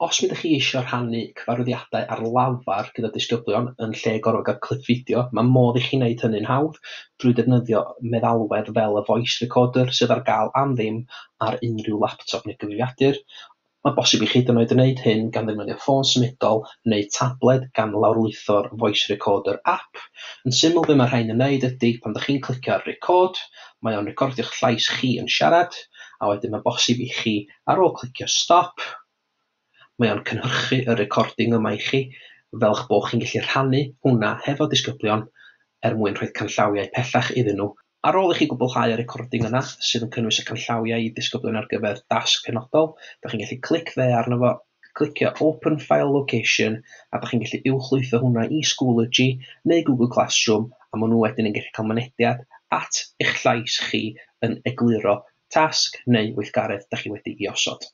Os ydych chi eisiau rhannu cyfarwyddiadau ar lafar gyda disgyblion yn lle gorfod cael clip fideo, mae modd i chi wneud hynny'n hawdd drwy defnyddio meddalwedd fel y voice recorder sydd ar gael am ddim ar unrhyw laptop neu gyfrifiadur. Mae bosib i chi hyd yn oed wneud hyn gan ddefnyddio ffôn symudol neu tabled gan lawrlwytho'r voice recorder app. Yn syml, be mae rhain yn wneud ydy, pan ydych chi'n clicio ar record, mae o'n recordio'ch llais chi yn siarad, a wedyn mae bosib i chi, ar ôl clicio stop, mae o'n cynhyrchu y recording yma i chi, fel eich bod chi'n gallu rhannu hwnna hefo disgyblion er mwyn rhoi canllawiau pellach iddyn nhw. Ar ôl i chi gwblhau y recording yna, sydd yn cynnwys y canllawiau i ddisgyblion ar gyfer dasg penodol, dach chi'n gallu clic dde arno fo, clicio Open File Location, a dach chi'n gallu uwchlwytho hwnna i Schoology neu Google Classroom, a maen nhw wedyn yn gallu cael mynediad at eich llais chi yn egluro tasg neu weithgaredd dach chi wedi'i osod.